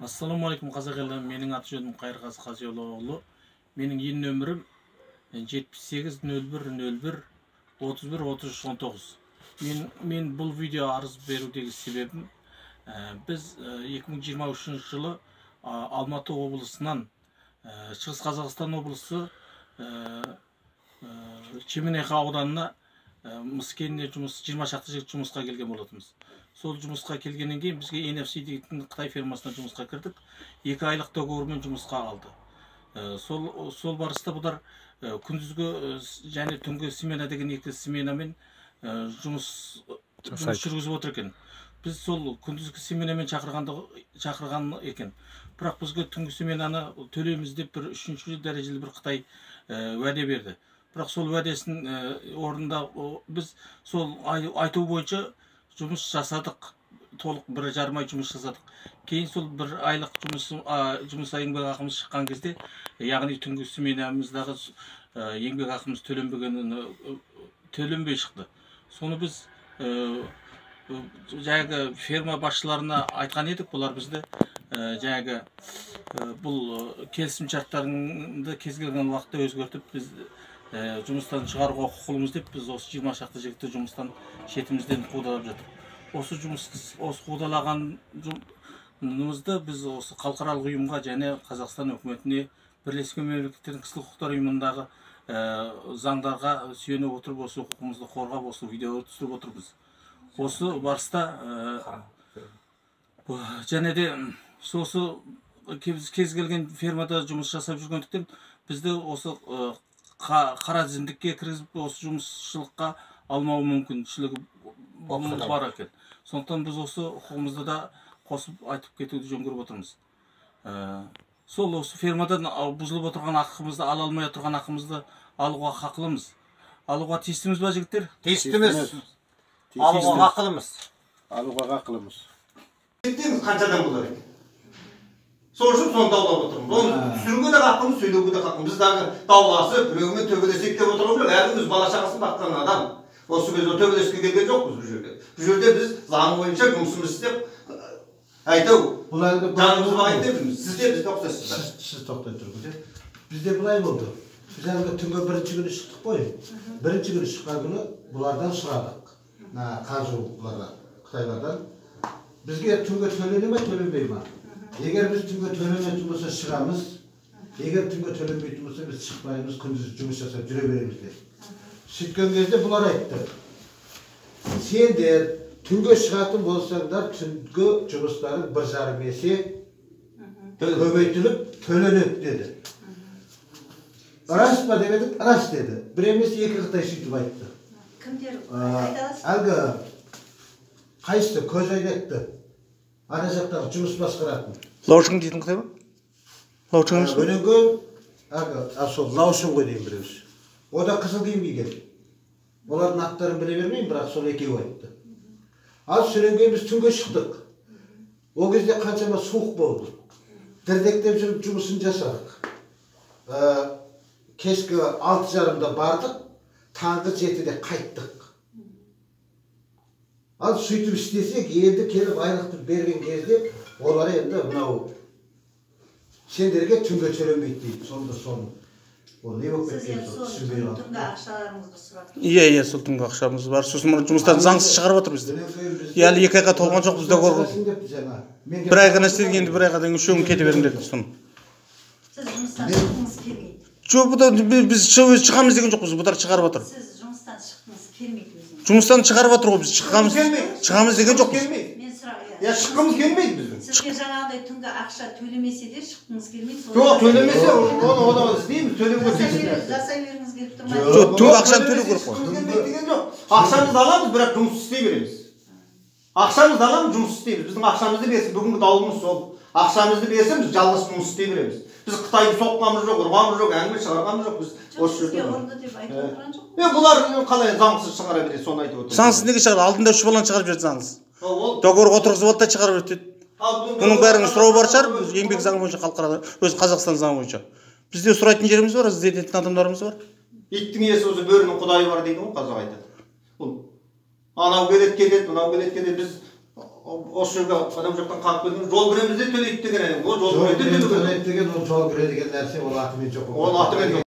Assalamu alaikum қазақ елі. Менің аты жөнім Қайырғазы Қазиолоğlu. Менің ен нөмірім 78 01 01 31 33 19. Мен бұл видео арыз берудегі себебім, біз 2023 жылы Алматы облысынан Шығыс Қазақстан облысы Чеменеха ауданына Мыскеніне 20 шақты жігіт жұмысқа келген болатымыз. Сол жұмысқа келгеннен кейін бізге NFC дейтін Қытай фирмасына жұмысқа кірдік. 2 айлық договормен жұмысқа алды. Сол барыста бұлар күндізгі және түнгі смена деген 2 сменамен жұмыс жүргізіп отыр екен. Біз сол күндізгі сменамен шақырған екен. Бірақ бізге түнгі сменаны төлейміз деп бір 3-ші дәрежелі бір Қытай уәде берді. Бірақ сол уәдесін орында біз сол айту бойынша жұмыс жасадық. Толық 1,5 ай жұмыс жасадық. Кейін сол 1 айлық жұмыс еңбек ақымыз шыққан кезде, яғни түнгі сменамыздағы еңбек ақымыз төленбей шықты. Соны біз жаңағы ферма басшыларына айтқан едік. Бұлар бізді жаңағы бұл келісім шарттарында кез келген уақытта өзгертіп, біз жұмыстан шығаруға құқылымыз деп, біз осы 20 шақты жігітті жұмыстан шетімізден қудалап жатыр. Осы қудалағанымызды біз осы халықаралық ұйымға және Қазақстан үкіметіне, Бірлескен Мемлекеттердің кісілік құқықтар ұйымындағы заңдарға сүйене отырып, осы құқығымызды қорғап, осы видеоны түсіріп отырмыз. Осы барыста және де сосы кез келген фермада жұмыс жасап жүргендіктен бізді осы қара тізімдікке кіргізіп, осы жұмысшылыққа алмау мүмкіншілігі бар екен. Сондықтан біз осы құқығымызды да қосып айтып кетуді жөн көріп отырмыз. Сол осы фермадан бұзылып отырған ақымызды, ала алмай отырған ақымызды алуға хақылымыз. Алуға тиістіміз ба, жігіттер? Тиістіміз. Алуға хақылымыз. Алуға хақылымыз. Тиістіміз қаншадан болар екен? Сол үшін соны даулап отырмыз. Оны түсіруге де хақымыз, сөйлеуге де хақымыз. Біз дағы дауласып, біреумен төбелесек деп отырып жүрек. Әркіміз бала шағасын баққан адам. Осы кезде төбелеске келген жоқпыз бұл жерде. Бұл жерде біз заң бойынша жұмысымыз істеп, айтау, жанымызды бағайын деп жүрміз. Сіз де бізді тоқтайсыздар. Сіз тоқтай тұрыңыз. Бізде бұлай болды. Біз әлгі түнгі бірінші күні шықтық қой. Бірінші күні шыққан күні бұлардан сұрадық. Қаржы бұларға, Қытайлардан. Бізге түнгі төлене ме, төленбей ме? Егер біз түнгі төленетін болса шығамыз, егер түнгі төленбейтін болса біз шықпаймыз, күндіз жұмыс жасап жүре береміз деп. Сөйткен кезде бұлар айтты. Сендер түнгі шығатын болсаңдар, түнгі жұмыстарын 1,5 есе көбейтіліп төленеді деді. Рас па демедік, рас деді. Бір емес 2 Қытай сөйтіп айтты. Кімдер айталасыз? Әлгі қайсысы көз айнекті. Ана жақтағы жұмыс басқаратын. Лаушың дейтін Қытай ба? Лаушың емес па? Өненгі, сол Лаушың ғой дейін біреуіз. О да қызыл киім киген. Олардың аттарын біле бермеймін, бірақ сол екеуі айтты. Ал сүренген біз түнге шықтық. О кезде қаншама суық болды. Дірдектеп жүріп жұмысын жасадық. Кешкі 6:30-да бардық, таңғы 7-де қайттық. Ал сөйтіп істесек, енді келіп айлықты берген кезде, олар енді мынау сендерге түнге төленбейді дейді. Сонда соны. Ол не болып кеткен сол түсінбей қалды. Түнгі ақшаларыңызды сұрап тұрсыз. Иә, сол түнгі ақшамыз бар. Сосын жұмыстан заңсыз шығарып отыр бізді. Әлі 2 айға толған жоқ, бізде көріп. 1 айға істедік, енді 1 айға дейін үшеуін кете беріңдер соны. Сіз жұмыстан шыққыңыз келмейді. Жоқ, біз шығамыз деген жоқпыз, бұлар шығарып отыр. Сіз жұмыстан шыққыңыз келмейді өзіңіз. Жұмыстан шығарып отыр ғой, біз шығамыз деген жоқпыз. Мен сұрақ, Я шыққымыз келмейді біздің. сізге жаңағыдай түнгі ақша төлемесе де шыққыңыз келмейді. Жоқ, төлемесе, оны істейміз, төлеуге тиіспіз. Жасай бергіңіз келіп тұрмайды. Жоқ, түнгі ақшаны төлеу керек қой. Ақшамызды аламыз, бірақ жұмыс істей береміз. Ақшамызды аламыз, жұмыс істейміз. Біздің ақшамызды берсін, бүгінгі даулымыз сол. Ақшамызды берсін, біз жалғыз жұмыс істей береміз. Біз Қытайды соққанымыз жоқ, ұрғанымыз жоқ, әңгіме шығарғанымыз жоқ. Біз Сізге ұрды деп айтып отырған жоқ. Бұлар қалай заңсыз шығара береді, соны айтып отыр. Заңсыз неге шығарады? Алдында 3 баланы шығарып жіберді заңсыз. Договор отырғызып алды да шығарып жіберді. Бұның бәрінің сұрауы бар шығар, біз еңбек заңы бойынша халықарада, өз Қазақстан заңы бойынша. Бізде сұрайтын жеріміз бар, іздететін адамдарымыз бар. Иттің иесі өзі бөрінің құдайы бар дейді ғой, қазақ айтады. Анау келеді, мынау келеді, біз осы жерге адам жақтан қалып келген жол кіреміз де төлейді деген ол жол кіреміз де төлейді деген ол жол кіре деген нәрсе ол атымен жоқ. Ол атымен жоқ.